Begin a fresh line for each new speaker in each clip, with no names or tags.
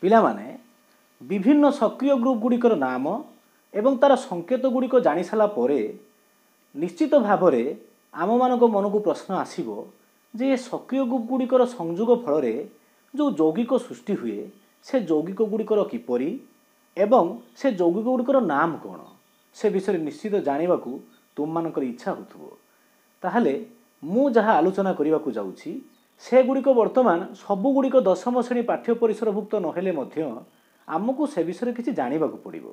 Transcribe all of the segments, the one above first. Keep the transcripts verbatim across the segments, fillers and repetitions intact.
ପିଲାମାନେ ବିଭିନ୍ନ ସକ୍ରିୟ ଗ୍ରୁପ୍ ଗୁଡ଼ିକର ନାମ ଏବଂ ତା'ର ସଂକେତ ଗୁଡ଼ିକ ଜାଣିସାରିଲା ପରେ ନିଶ୍ଚିତ ଭାବରେ ଆମମାନଙ୍କ ମନକୁ ପ୍ରଶ୍ନ ଆସିବ ଯେ ଏ ସକ୍ରିୟ ଗ୍ରୁପ୍ ଗୁଡ଼ିକର ସଂଯୋଗ ଫଳରେ ଯେଉଁ ଯୌଗିକ ସୃଷ୍ଟି ହୁଏ ସେ ଯୌଗିକ ଗୁଡ଼ିକର କିପରି ଏବଂ ସେ ଯୌଗିକ ଗୁଡ଼ିକର ନାମ କ'ଣ ସେ ବିଷୟରେ ନିଶ୍ଚିତ ଜାଣିବାକୁ ତୁମମାନଙ୍କର ଇଚ୍ଛା ହେଉଥିବ ତାହେଲେ ମୁଁ ଯାହା ଆଲୋଚନା କରିବାକୁ ଯାଉଛି ସେଗୁଡ଼ିକ ବର୍ତ୍ତମାନ ସବୁଗୁଡ଼ିକ ଦଶମ ଶ୍ରେଣୀ ପାଠ୍ୟ ପରିସରଭୁକ୍ତ ନହେଲେ ମଧ୍ୟ ଆମକୁ ସେ ବିଷୟରେ କିଛି ଜାଣିବାକୁ ପଡ଼ିବ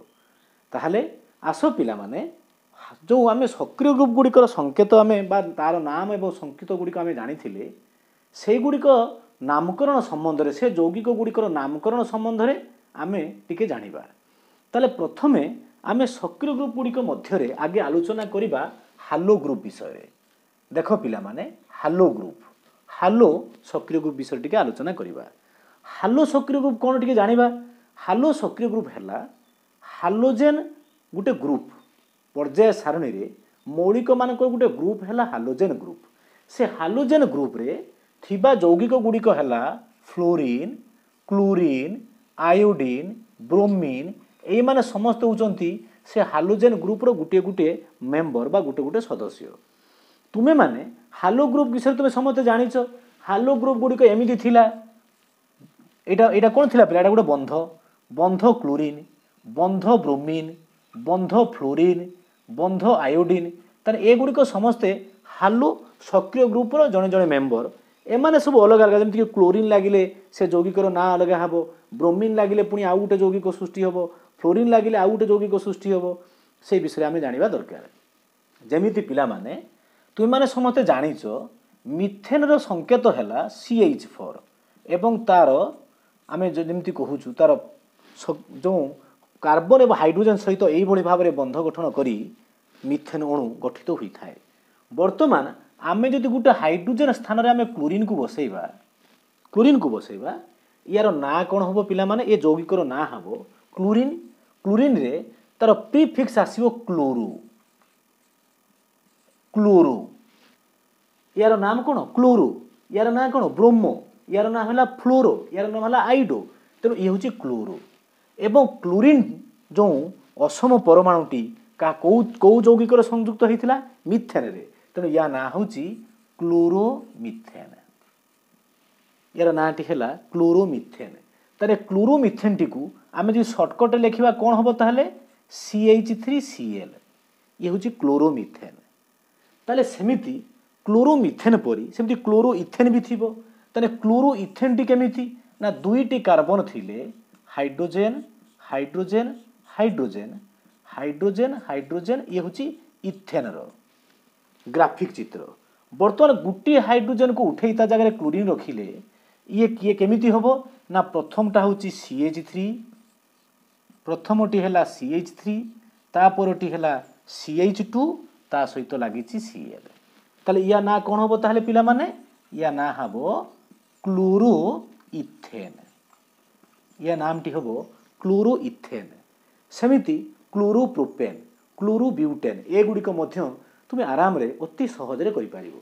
ତାହେଲେ ଆସ ପିଲାମାନେ ଯେଉଁ ଆମେ ସକ୍ରିୟ ଗ୍ରୁପ୍ ଗୁଡ଼ିକର ସଂକେତ ଆମେ ବା ତା'ର ନାମ ଏବଂ ସଂକେତ ଗୁଡ଼ିକ ଆମେ ଜାଣିଥିଲେ ସେଇଗୁଡ଼ିକ ନାମକରଣ ସମ୍ବନ୍ଧରେ ସେ ଯୌଗିକ ଗୁଡ଼ିକର ନାମକରଣ ସମ୍ବନ୍ଧରେ ଆମେ ଟିକେ ଜାଣିବା ତାହେଲେ ପ୍ରଥମେ ଆମେ ସକ୍ରିୟ ଗ୍ରୁପ୍ ଗୁଡ଼ିକ ମଧ୍ୟରେ ଆଗେ ଆଲୋଚନା କରିବା ହାଲୋ ଗ୍ରୁପ୍ ବିଷୟରେ ଦେଖ ପିଲାମାନେ ହାଲୋ ଗ୍ରୁପ୍ ହାଲୋ ସକ୍ରିୟ ଗ୍ରୁପ୍ ବିଷୟରେ ଟିକେ ଆଲୋଚନା କରିବା ହାଲୋ ସକ୍ରିୟ ଗ୍ରୁପ୍ କ'ଣ ଟିକେ ଜାଣିବା ହାଲୋ ସକ୍ରିୟ ଗ୍ରୁପ୍ ହେଲା ହାଲୋଜେନ୍ ଗୋଟେ ଗ୍ରୁପ୍ ପର୍ଯ୍ୟାୟ ସାରଣୀରେ ମୌଳିକମାନଙ୍କର ଗୋଟେ ଗ୍ରୁପ୍ ହେଲା ହାଲୋଜେନ୍ ଗ୍ରୁପ୍ ସେ ହାଲୋଜେନ୍ ଗ୍ରୁପ୍ରେ ଥିବା ଯୌଗିକ ଗୁଡ଼ିକ ହେଲା ଫ୍ଲୋରିନ୍ କ୍ଲୋରିନ୍ ଆୟୋଡିନ୍ ବ୍ରୋମିନ୍ ଏଇମାନେ ସମସ୍ତେ ହେଉଛନ୍ତି ସେ ହାଲୋଜେନ୍ ଗ୍ରୁପ୍ର ଗୋଟିଏ ଗୋଟିଏ ମେମ୍ବର ବା ଗୋଟେ ଗୋଟେ ସଦସ୍ୟ ତୁମେମାନେ ହାଲୋ ଗ୍ରୁପ୍ ବିଷୟରେ ତୁମେ ସମସ୍ତେ ଜାଣିଛ ହାଲୋ ଗ୍ରୁପ୍ ଗୁଡ଼ିକ ଏମିତି ଥିଲା ଏଇଟା ଏଇଟା କ'ଣ ଥିଲା ପିଲା ଏଇଟା ଗୋଟେ ବନ୍ଧ ବନ୍ଧ କ୍ଲୋରିନ୍ ବନ୍ଧ ବ୍ରୋମିନ୍ ବନ୍ଧ ଫ୍ଲୋରିନ୍ ବନ୍ଧ ଆୟୋଡିନ୍ ତାହେଲେ ଏଗୁଡ଼ିକ ସମସ୍ତେ ହାଲୋ ସକ୍ରିୟ ଗ୍ରୁପ୍ର ଜଣେ ଜଣେ ମେମ୍ବର ଏମାନେ ସବୁ ଅଲଗା ଅଲଗା ଯେମିତିକି କ୍ଲୋରିନ୍ ଲାଗିଲେ ସେ ଯୌଗିକର ନାଁ ଅଲଗା ହେବ ବ୍ରୋମିନ୍ ଲାଗିଲେ ପୁଣି ଆଉ ଗୋଟେ ଯୌଗିକ ସୃଷ୍ଟି ହେବ ଫ୍ଲୋରିନ୍ ଲାଗିଲେ ଆଉ ଗୋଟେ ଯୌଗିକ ସୃଷ୍ଟି ହେବ ସେଇ ବିଷୟରେ ଆମେ ଜାଣିବା ଦରକାର ଯେମିତି ପିଲାମାନେ ତୁମେମାନେ ସମସ୍ତେ ଜାଣିଛ ମିଥେନ୍ର ସଂକେତ ହେଲା ସି ଏଚ୍ ଫୋର୍ ଏବଂ ତା'ର ଆମେ ଯେମିତି କହୁଛୁ ତା'ର ଯେଉଁ କାର୍ବନ ଏବଂ ହାଇଡ୍ରୋଜେନ୍ ସହିତ ଏଇଭଳି ଭାବରେ ବନ୍ଧ ଗଠନ କରି ମିଥେନ୍ ଅଣୁ ଗଠିତ ହୋଇଥାଏ ବର୍ତ୍ତମାନ ଆମେ ଯଦି ଗୋଟେ ହାଇଡ୍ରୋଜେନ୍ ସ୍ଥାନରେ ଆମେ କ୍ଲୋରିନ୍କୁ ବସେଇବା କ୍ଲୋରିନ୍କୁ ବସେଇବା ୟାର ନାଁ କ'ଣ ହେବ ପିଲାମାନେ ଏ ଯୌଗିକର ନାଁ ହେବ କ୍ଲୋରିନ୍ କ୍ଲୋରିନ୍ରେ ତା'ର ପ୍ରିଫିକ୍ସ ଆସିବ କ୍ଲୋରୋ କ୍ଲୋରୋ ୟାର ନାମ କ'ଣ କ୍ଲୋରୋ ୟାର ନାଁ କ'ଣ ବ୍ରୋମୋ ୟାର ନାଁ ହେଲା ଫ୍ଲୋରୋ ୟାର ନାମ ହେଲା ଆଇଡୋ ତେଣୁ ଇଏ ହେଉଛି କ୍ଲୋରୋ ଏବଂ କ୍ଲୋରିନ୍ ଯେଉଁ ଅସମ ପରମାଣୁଟି କା କେଉଁ କେଉଁ ଯୌଗିକର ସଂଯୁକ୍ତ ହେଇଥିଲା ମିଥେନ୍ରେ ତେଣୁ ୟା ନାଁ ହେଉଛି କ୍ଲୋରୋମିଥେନ୍ ୟାର ନାଁଟି ହେଲା କ୍ଲୋରୋମିଥେନ୍ ତାହେଲେ କ୍ଲୋରୋମିଥେନ୍ଟିକୁ ଆମେ ଯଦି ସର୍ଟକଟ୍ରେ ଲେଖିବା କ'ଣ ହେବ ତାହେଲେ C H three C L ଇଏ ହେଉଛି କ୍ଲୋରୋମିଥେନ୍ ତାହେଲେ ସେମିତି କ୍ଲୋରୋମିଥେନ୍ ପରି ସେମିତି କ୍ଲୋରୋ ଇଥେନ୍ ବି ଥିବ ତାହେଲେ କ୍ଲୋରୋ ଇଥେନ୍ଟି କେମିତି ନା ଦୁଇଟି କାର୍ବନ ଥିଲେ hydrogen hydrogen hydrogen hydrogen hydrogen ଇଏ ହେଉଛି ଇଥେନ୍ର ଗ୍ରାଫିକ୍ ଚିତ୍ର ବର୍ତ୍ତମାନ ଗୋଟିଏ ହାଇଡ୍ରୋଜେନ୍କୁ ଉଠେଇ ତା ଜାଗାରେ କ୍ଲୋରିନ୍ ରଖିଲେ ଇଏ କିଏ କେମିତି ହେବ ନା ପ୍ରଥମଟା ହେଉଛି ସି ଏଚ୍ ଥ୍ରୀ ପ୍ରଥମଟି ହେଲା ସି ଏଚ୍ ଥ୍ରୀ ତାପରଟି ହେଲା ସି ଏଚ୍ ଟୁ ତା ସହିତ ଲାଗିଛି ସି ଏଲ୍ ତାହେଲେ ୟା ନାଁ କ'ଣ ହେବ ତାହେଲେ ପିଲାମାନେ ୟା ନାଁ ହେବ କ୍ଲୋରୋ ଇଥେନ୍ ୟା ନାମଟି ହେବ କ୍ଲୋରୋ ଇଥେନ୍ ସେମିତି କ୍ଲୋରୋପ୍ରୋପେନ୍ କ୍ଲୋରୋବ୍ୟୁଟେନ୍ ଏଗୁଡ଼ିକ ମଧ୍ୟ ତୁମେ ଆରାମରେ ଅତି ସହଜରେ କରିପାରିବ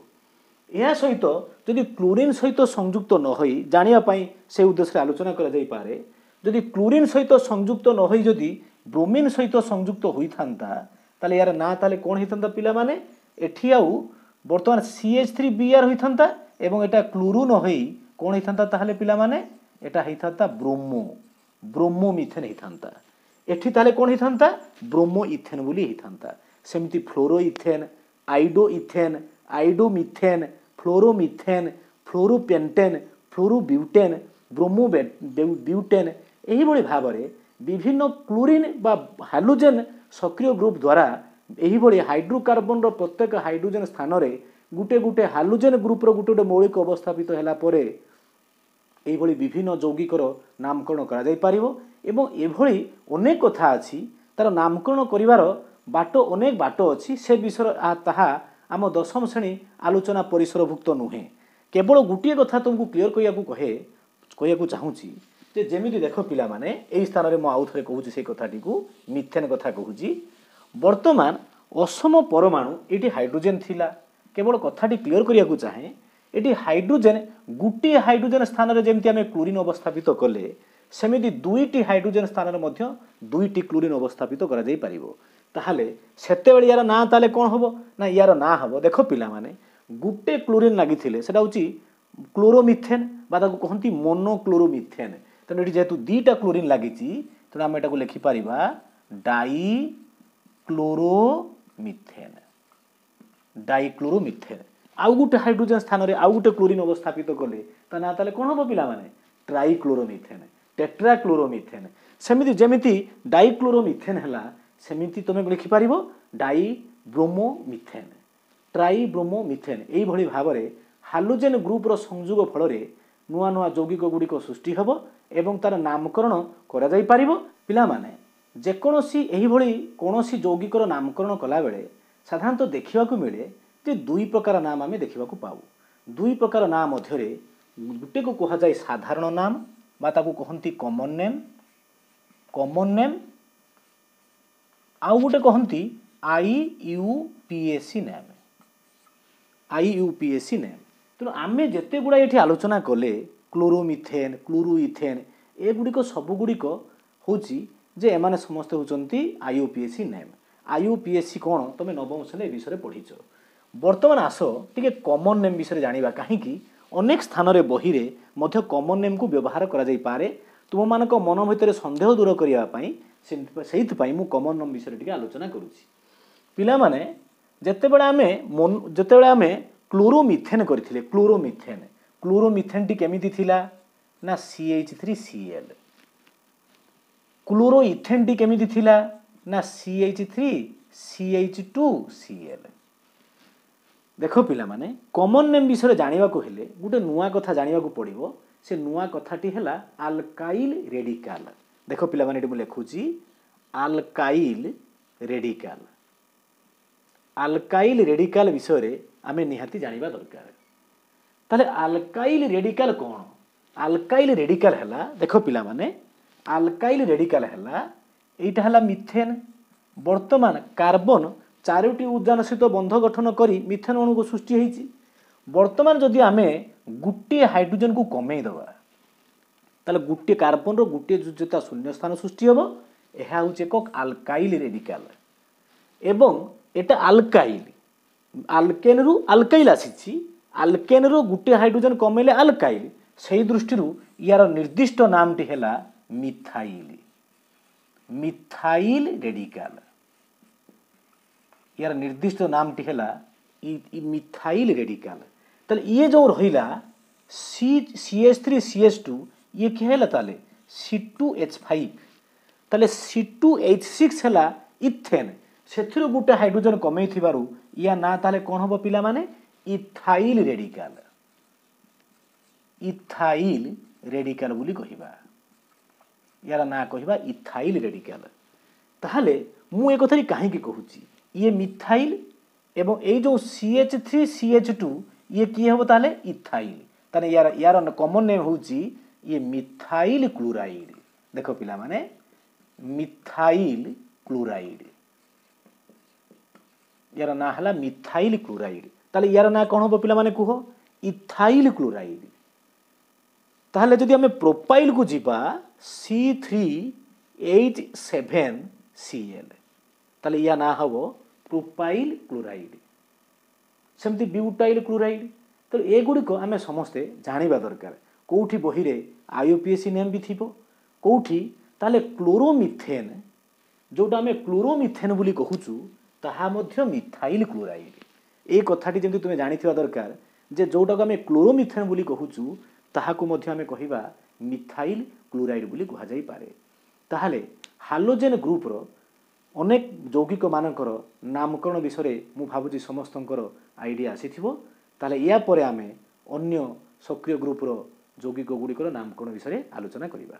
ଏହା ସହିତ ଯଦି କ୍ଲୋରିନ୍ ସହିତ ସଂଯୁକ୍ତ ନ ହୋଇ ଜାଣିବା ପାଇଁ ସେ ଉଦ୍ଦେଶ୍ୟରେ ଆଲୋଚନା କରାଯାଇପାରେ ଯଦି କ୍ଲୋରିନ୍ ସହିତ ସଂଯୁକ୍ତ ନ ହୋଇ ଯଦି ବ୍ରୋମିନ୍ ସହିତ ସଂଯୁକ୍ତ ହୋଇଥାନ୍ତା ତାହେଲେ ୟାର ନାଁ ତାହେଲେ କ'ଣ ହେଇଥାନ୍ତା ପିଲାମାନେ ଏଠି ଆଉ ବର୍ତ୍ତମାନ C H three B R ହୋଇଥାନ୍ତା ଏବଂ ଏଟା କ୍ଲୋରୋ ନ ହୋଇ କ'ଣ ହେଇଥାନ୍ତା ତାହେଲେ ପିଲାମାନେ ଏଟା ହେଇଥାନ୍ତା ବ୍ରୋମୋ ବ୍ରୋମୋ ମିଥେନ୍ ହେଇଥାନ୍ତା ଏଠି ତାହେଲେ କ'ଣ ହେଇଥାନ୍ତା ବ୍ରୋମୋ ଇଥେନ୍ ବୋଲି ହେଇଥାନ୍ତା ସେମିତି fluoro ethane iodo ethane iodo methane fluoro methane fluoro pentane fluoro butane bromo butane ଏହିଭଳି ଭାବରେ ବିଭିନ୍ନ କ୍ଲୋରିନ୍ ବା ହାଲୋଜେନ୍ ସକ୍ରିୟ ଗ୍ରୁପ୍ ଦ୍ୱାରା ଏହିଭଳି ହାଇଡ୍ରୋକାର୍ବନର ପ୍ରତ୍ୟେକ ହାଇଡ୍ରୋଜେନ୍ ସ୍ଥାନରେ ଗୋଟେ ଗୋଟେ ହାଲୋଜେନ୍ ଗ୍ରୁପ୍ର ଗୋଟେ ଗୋଟେ ମୌଳିକ ଅବସ୍ଥାପିତ ହେଲା ପରେ ଏଇଭଳି ବିଭିନ୍ନ ଯୌଗିକର ନାମକରଣ କରାଯାଇପାରିବ ଏବଂ ଏଭଳି ଅନେକ କଥା ଅଛି ତା'ର ନାମକରଣ କରିବାର ବାଟ ଅନେକ ବାଟ ଅଛି ସେ ବିଷୟରେ ତାହା ଆମ ଦଶମ ଶ୍ରେଣୀ ଆଲୋଚନା ପରିସରଭୁକ୍ତ ନୁହେଁ କେବଳ ଗୋଟିଏ କଥା ତୁମକୁ କ୍ଲିଅର କରିବାକୁ କହେ କହିବାକୁ ଚାହୁଁଛି ଯେ ଯେମିତି ଦେଖ ପିଲାମାନେ ଏଇ ସ୍ଥାନରେ ମୁଁ ଆଉ ଥରେ କହୁଛି ସେଇ କଥାଟିକୁ ମିଥେନ୍ କଥା କହୁଛି ବର୍ତ୍ତମାନ ଅସମ ପରମାଣୁ ଏଇଠି ହାଇଡ୍ରୋଜେନ୍ ଥିଲା କେବଳ କଥାଟି କ୍ଲିଅର କରିବାକୁ ଚାହେଁ ଏଠି ହାଇଡ୍ରୋଜେନ୍ ଗୋଟିଏ ହାଇଡ୍ରୋଜେନ୍ ସ୍ଥାନରେ ଯେମିତି ଆମେ କ୍ଲୋରିନ୍ ଅବସ୍ଥାପିତ କଲେ ସେମିତି ଦୁଇଟି ହାଇଡ୍ରୋଜେନ୍ ସ୍ଥାନରେ ମଧ୍ୟ ଦୁଇଟି କ୍ଲୋରିନ୍ ଅବସ୍ଥାପିତ କରାଯାଇପାରିବ। ତାହେଲେ ସେତେବେଳେ ୟାର ନାଁ ତାହେଲେ କ'ଣ ହେବ ନା ୟାର ନାଁ ହେବ, ଦେଖ ପିଲାମାନେ, ଗୋଟେ କ୍ଲୋରିନ୍ ଲାଗିଥିଲେ ସେଟା ହେଉଛି କ୍ଲୋରୋମିଥେନ୍ ବା ତାକୁ କହନ୍ତି ମୋନୋକ୍ଲୋରୋମିଥେନ୍। ତେଣୁ ଏଠି ଯେହେତୁ ଦୁଇଟା କ୍ଲୋରିନ୍ ଲାଗିଛି, ତେଣୁ ଆମେ ଏଟାକୁ ଲେଖିପାରିବା ଡାଇ କ୍ଲୋରୋମିଥେନ୍, ଡାଇକ୍ଲୋରୋମିଥେନ୍। ଆଉ ଗୋଟେ ହାଇଡ୍ରୋଜେନ୍ ସ୍ଥାନରେ ଆଉ ଗୋଟେ କ୍ଲୋରିନ୍ ଅବସ୍ଥାପିତ କଲେ ତା ନାଁ ତାହେଲେ କ'ଣ ହେବ ପିଲାମାନେ? ଟ୍ରାଇକ୍ଲୋରୋମିଥେନ୍, ଟେଟ୍ରାକ୍ଲୋରୋମିଥେନ୍। ସେମିତି ଯେମିତି ଡାଇକ୍ଲୋରୋମିଥେନ୍ ହେଲା, ସେମିତି ତୁମେ ଲେଖିପାରିବ ଡାଇବ୍ରୋମୋମିଥେନ୍, ଟ୍ରାଇବ୍ରୋମୋମିଥେନ୍। ଏଇଭଳି ଭାବରେ ହାଲୋଜେନ୍ ଗ୍ରୁପର ସଂଯୋଗ ଫଳରେ ନୂଆ ନୂଆ ଯୌଗିକ ଗୁଡ଼ିକ ସୃଷ୍ଟି ହେବ ଏବଂ ତାର ନାମକରଣ କରାଯାଇପାରିବ। ପିଲାମାନେ, ଯେକୌଣସି ଏହିଭଳି କୌଣସି ଯୌଗିକର ନାମକରଣ କଲାବେଳେ ସାଧାରଣତଃ ଦେଖିବାକୁ ମିଳେ ଯେ ଦୁଇ ପ୍ରକାର ନାମ ଆମେ ଦେଖିବାକୁ ପାଉ। ଦୁଇ ପ୍ରକାର ନାଁ ମଧ୍ୟରେ ଗୋଟେକୁ କୁହାଯାଏ ସାଧାରଣ ନାମ ବା ତାକୁ କହନ୍ତି କମନ୍ ନେମ୍, କମନ୍ ନେମ୍, ଆଉ ଗୋଟେ କହନ୍ତି I U P S C name, I U P S C name. ତେଣୁ ଆମେ ଯେତେ ଗୁଡ଼ାଏ ଏଠି ଆଲୋଚନା କଲେ, କ୍ଲୋରୋମିଥେନ୍, କ୍ଲୋରୋଇଥେନ୍, ଏଗୁଡ଼ିକ ସବୁଗୁଡ଼ିକ ହେଉଛି ଯେ ଏମାନେ ସମସ୍ତେ ହେଉଛନ୍ତି I U P S C name. I U P S C କ'ଣ ତୁମେ ନବମ ଶ୍ରେଣୀ ଏ ବିଷୟରେ ପଢ଼ିଛ। ବର୍ତ୍ତମାନ ଆସ ଟିକେ କମନ୍ ନେମ୍ ବିଷୟରେ ଜାଣିବା, କାହିଁକି ଅନେକ ସ୍ଥାନରେ ବହିରେ ମଧ୍ୟ କମନ୍ ନେମ୍କୁ ବ୍ୟବହାର କରାଯାଇପାରେ। ତୁମମାନଙ୍କ ମନ ଭିତରେ ସନ୍ଦେହ ଦୂର କରିବା ପାଇଁ ସେଇଥିପାଇଁ ମୁଁ କମନ୍ ନେମ୍ ବିଷୟରେ ଟିକେ ଆଲୋଚନା କରୁଛି। ପିଲାମାନେ, ଯେତେବେଳେ ଆମେ ଯେତେବେଳେ ଆମେ କ୍ଲୋରୋମିଥେନ୍ କରିଥିଲେ, କ୍ଲୋରୋମିଥେନ୍, କ୍ଲୋରୋମିଥେନ୍ଟି କେମିତି ଥିଲା ନା C H three C L. କ୍ଲୋରୋଇଥେନ୍ଟି କେମିତି ଥିଲା ନା C H three C H two C L. ଦେଖ ପିଲାମାନେ, କମନ୍ ନେମ୍ ବିଷୟରେ ଜାଣିବାକୁ ହେଲେ ଗୋଟେ ନୂଆ କଥା ଜାଣିବାକୁ ପଡ଼ିବ। ସେ ନୂଆ କଥାଟି ହେଲା ଆଲକାଇଲ୍ ରେଡିକାଲ। ଦେଖ ପିଲାମାନେ, ଏଠି ମୁଁ ଲେଖୁଛି ଆଲକାଇଲ୍ ରେଡିକାଲ। ଆଲକାଇଲ୍ ରେଡିକାଲ ବିଷୟରେ ଆମେ ନିହାତି ଜାଣିବା ଦରକାର। ତାହେଲେ ଆଲକାଇଲ୍ ରେଡିକାଲ କ'ଣ? ଆଲକାଇଲ୍ ରେଡିକାଲ ହେଲା, ଦେଖ ପିଲାମାନେ, ଆଲକାଇଲ୍ ରେଡିକାଲ ହେଲା ଏଇଟା ହେଲା ମିଥେନ୍। ବର୍ତ୍ତମାନ କାର୍ବନ ଚାରୋଟି ଉଦ୍ଜାନ ସହିତ ବନ୍ଧ ଗଠନ କରି ମିଥେନ୍ ଅଣୁକୁ ସୃଷ୍ଟି ହେଇଛି। ବର୍ତ୍ତମାନ ଯଦି ଆମେ ଗୋଟିଏ ହାଇଡ୍ରୋଜେନକୁ କମେଇ ଦେବା, ତାହେଲେ ଗୋଟିଏ କାର୍ବନର ଗୋଟିଏ ଯୋଜ୍ୟତା ଶୂନ୍ୟ ସ୍ଥାନ ସୃଷ୍ଟି ହେବ। ଏହା ହେଉଛି ଏକ ଆଲକାଇଲ୍ ରେଡିକାଲ ଏବଂ ଏଟା ଆଲକାଇଲ୍, ଆଲକେନ୍ରୁ ଆଲକାଇଲ୍ ଆସିଛି। ଆଲକେନ୍ରୁ ଗୋଟିଏ ହାଇଡ୍ରୋଜେନ୍ କମେଇଲେ ଆଲକାଇଲ୍, ସେଇ ଦୃଷ୍ଟିରୁ ୟାର ନିର୍ଦ୍ଦିଷ୍ଟ ନାମଟି ହେଲା ମିଥାଇଲ୍, ମିଥାଇଲ୍ ରେଡିକାଲ। ୟାର ନିର୍ଦ୍ଦିଷ୍ଟ ନାମଟି ହେଲା ମିଥାଇଲ୍ ରେଡିକାଲ। ତାହେଲେ ଇଏ ଯେଉଁ ରହିଲା C C H three C H two, ଇଏ କିଏ ହେଲା ତାହେଲେ ସି ଟୁ ଏଚ୍ ଫାଇଭ୍। ତାହେଲେ ସି ଟୁ ଏଚ୍ ସିକ୍ସ ହେଲା ଇଥେନ୍, ସେଥିରୁ ଗୋଟେ ହାଇଡ୍ରୋଜେନ୍ କମେଇଥିବାରୁ ୟା ନାଁ ତାହେଲେ କ'ଣ ହେବ ପିଲାମାନେ? ଇଥାଇଲ୍ ରେଡିକାଲ, ଇଥାଇଲ୍ ରେଡିକାଲ ବୋଲି କହିବା। ୟାର ନାଁ କହିବା ଇଥାଇଲ୍ ରେଡିକାଲ। ତାହେଲେ ମୁଁ ଏ କଥାଟି କାହିଁକି କହୁଛି? ଇଏ ମିଥାଇଲ୍ ଏବଂ ଏଇ ଯେଉଁ C H three C H two, ଇଏ କିଏ ହେବ ତାହେଲେ? ଇଥାଇଲ୍। ତାହେଲେ ୟାର ୟାର କମନ୍ ନେମ୍ ହେଉଛି ଇଏ ମିଥାଇଲ୍ କ୍ଲୋରାଇଡ୍। ଦେଖ ପିଲାମାନେ, ମିଥାଇଲ୍ କ୍ଲୋରାଇଡ୍, ୟାର ନାଁ ହେଲା ମିଥାଇଲ୍ କ୍ଲୋରାଇଡ୍। ତାହେଲେ ୟାର ନାଁ କ'ଣ ହେବ ପିଲାମାନେ କୁହ? Ethyl chloride. ତାହେଲେ ଯଦି ଆମେ ପ୍ରୋପାଇଲ୍କୁ ଯିବା, C three H seven C L, ତାହେଲେ ୟା ନାଁ ହେବ ପ୍ରୋପାଇଲ୍ କ୍ଲୋରାଇଡ୍। ସେମିତି ବ୍ୟୁଟାଇଲ୍ କ୍ଲୋରାଇଡ୍। ତେଣୁ ଏଗୁଡ଼ିକ ଆମେ ସମସ୍ତେ ଜାଣିବା ଦରକାର। କେଉଁଠି ବହିରେ I U P S C name ବି ଥିବ, କେଉଁଠି ତାହେଲେ କ୍ଲୋରୋମିଥେନ୍, ଯେଉଁଟା ଆମେ କ୍ଲୋରୋମିଥେନ୍ ବୋଲି କହୁଛୁ, ତାହା ମଧ୍ୟ ମିଥାଇଲ୍ କ୍ଲୋରାଇଡ୍। ଏଇ କଥାଟି ଯେମିତି ତୁମେ ଜାଣିଥିବା ଦରକାର ଯେ ଯେଉଁଟାକୁ ଆମେ କ୍ଲୋରୋମିଥେନ୍ ବୋଲି କହୁଛୁ, ତାହାକୁ ମଧ୍ୟ ଆମେ କହିବା ମିଥାଇଲ୍ କ୍ଲୋରାଇଡ୍ ବୋଲି କୁହାଯାଇପାରେ। ତାହେଲେ ହାଲୋଜେନ୍ ଗ୍ରୁପର ଅନେକ ଯୌଗିକମାନଙ୍କର ନାମକରଣ ବିଷୟରେ ମୁଁ ଭାବୁଛି ସମସ୍ତଙ୍କର ଆଇଡ଼ିଆ ଆସିଥିବ। ତାହେଲେ ୟା ପରେ ଆମେ ଅନ୍ୟ ସକ୍ରିୟ ଗ୍ରୁପର ଯୌଗିକ ଗୁଡ଼ିକର ନାମକରଣ ବିଷୟରେ ଆଲୋଚନା କରିବା।